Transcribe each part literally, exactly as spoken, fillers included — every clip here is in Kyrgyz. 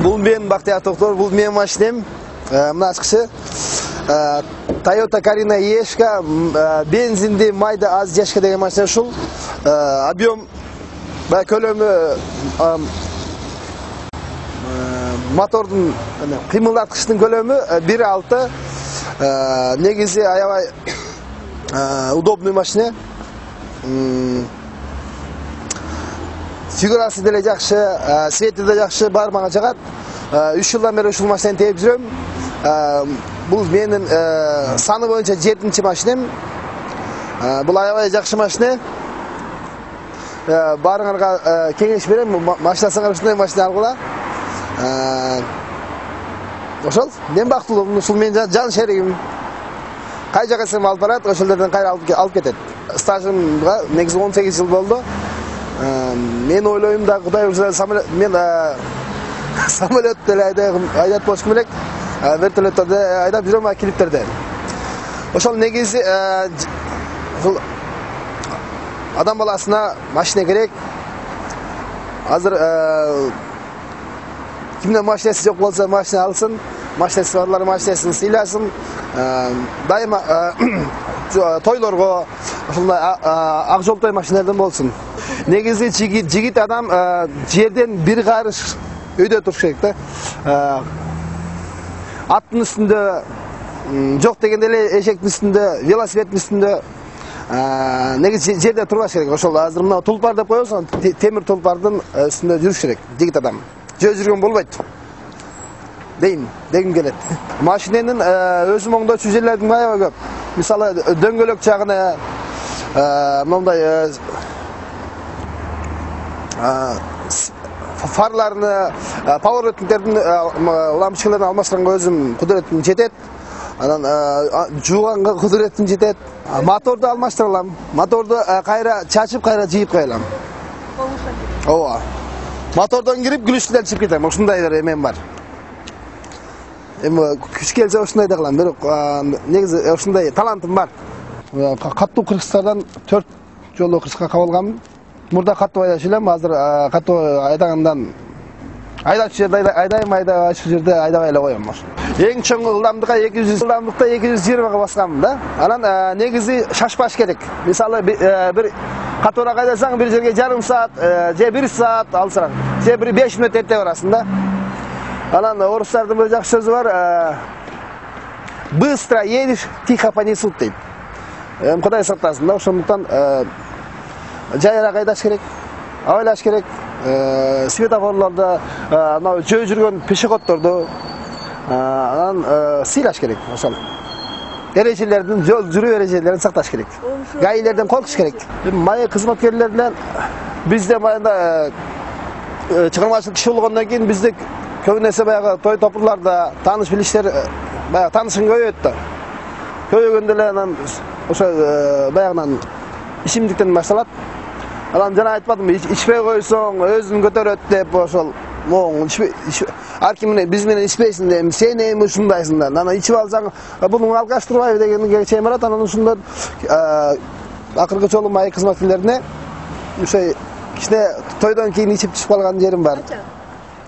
Бул мен Бактияр Токтор, бул менин машинем. Мына ачкычы Toyota Carina Ешка, бензинди майда аз жашка деген машина ушул. Объем бай көлөмү мотордун кыймылдаткычтын көлөмү бир алты. Негизи аябай удобный машина. Фигурасы деле жакшы, свети да жакшы, бар мага жагат. үч жылдан бери ушул машинаны тээп жүрөм. Бул менин саны боюнча жетинчи машинем. Бул аябай жакшы машина. Баарыңарга кеңеш берем, машинасыңар ушундай машина алгыла. Ошол, мен бактылуумун, ушул менин жан шеригим. Кай жака кетсем алып барат, ошол жерден кайра алып кетет. Стажымга негизи он сегиз жыл болду. Мен ойлойм да, Кудай урса самолет, мен самолет деле айдап болушум керек. Вертолеттерде айдап жүрөм, клиптерде. Ошол негизи ушул адам баласына машина керек. Азыр кимден машинасы жок болсо машина алсын, машинасы барлар машинасын сыйласын. Дайыма тойлорго ушундай ак жолтой машиналардан болсун. Негизи жигит адам жерден бир карыш өйдө туруш керек да. Аттын үстүндө жок дегенде эле эшектин үстүндө, велосипедтин үстүндө негизи жерде турбаш керек. Ошол азыр мына тулпар деп коебуз, темир тулпардын үстүндө жүрүш керек жигит адам. Жөө жүргөн болбойт. Дейм, дегим келет. Машиненин өзү моңдочу жерлердин аябай көп. Мисалы дөңгөлөк жагына мындай фарларны, поворотниктердин лампочкаларын алмаштырганга өзүм кудуретим жетет. Анан жууганга кудуретим жетет. Моторду алмаштыра алам. Моторду кайра чачып, кайра жыйып кое алам. Ооба. Мотордон кирип, күлүштүдөн чыгып кетем. Ушундай бир эмем бар. Эми күч келсе ушундай да кылам. Бирок негизи ушундай талантым бар. Каттуу кыргыздардан төрт жолу кыргызга кабылганмын. Мурда каттуу айдачу элем, азыр каттуу айдагандан айдачу жерде айдайм, айдачу жерде айдабай эле коем. Эң чоң ылдамдыкка эки жүз, ылдамдыкта эки жүз жыйырмага басканмын да. Анан негизи шашпаш керек. Мисалы бир катуураак айдасаң бир жерге жарым саат, же бир саат алсаң, же бир беш мүнөт эрте барасың да. Анан орустардын бир жакшы сөзү бар. Быстро едешь, тихо понесут дейт. Эми Кудай сактасын да, ошондуктан жайыраак айдаш керек, абайлаш керек. Светофорлордо, мына жөө жүргөн пешеходдорду анан сыйлаш керек. Ошол эрежелердин, жол жүрүү эрежелерин сакташ керек. Гаилерден коркуш керек. Майы кызматкерлерден бизде баягы чыгармачылык киши болгондон кийин бизде көп нерсе баягы той топурларда тааныш билиштер баягы таанышың көбөйөт да. Көбөйгөндө эле анан ошо баягынан ичимдиктен башталат. Анан жана айтпадымбы, ичпей койсоң өзүн көтөрөт деп ошол моң ар ким биз менен ичпейсиң дейм, сен эми ушундайсың да. Анан ичип алсаң, буну алгаштырбайбы дегенге чейин барат. Анан ушундан акыркы жолу майы кызматкерлерине ошо кичине тойдон кийин ичип түшүп калган жерим бар.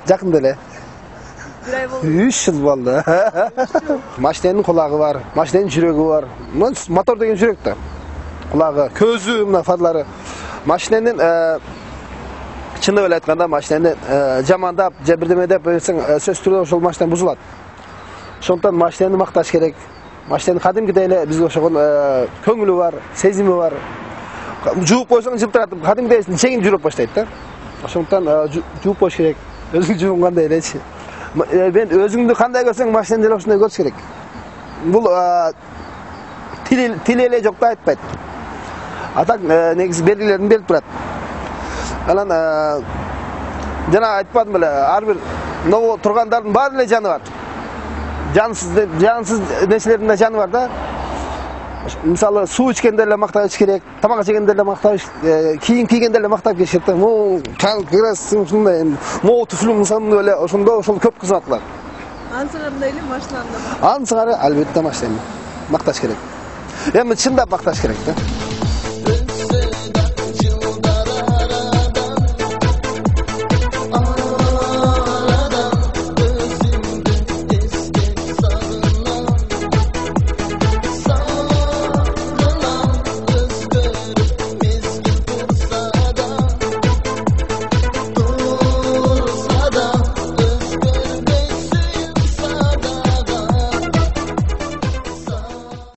Жакында эле. бир ай болду. үч жыл болду. Машиненин кулагы бар, машиненин жүрөгү бар. Мотор деген жүрөк да. Кулагы, көзү, мына фарлары. Машиненин чындап эле айтканда машинени жамандап, же бирдеме деп берсең, сөз түрдө ошол машина бузулат. Ошондуктан машинени макташ керек. Машиненин кадимкидей эле бизге ошогон көңүлү бар, сезими бар. Жууп койсоң жылтырат, кадимкидей чегинип жүрөп баштайт да. Ошондуктан жууп коюш керек. Өзүң жуугандай элечи. Мен өзүңдү кандай көрсөң, машинени деле ошондой көрүш керек. Бул тил эле жок да айтпайт. Атак негизи белгилерин берип турат. Анан жана айтпадым беле, ар бир ново тургандардын баары эле жаны бар. Жансыз жансыз нерселердин да жаны бар да. Мисалы суу ичкенде эле мактап ич керек, тамак жегенде эле мактап, кийим кийгенде эле мактап кийиш керек. Му красивый ушундай, му туфлум сандуу эле ошондо ошол көп кызмат кылат. Ансыгар эле машинаны. Ансыгар албетте машина макташ керек. Эми чындап бакташ керек да.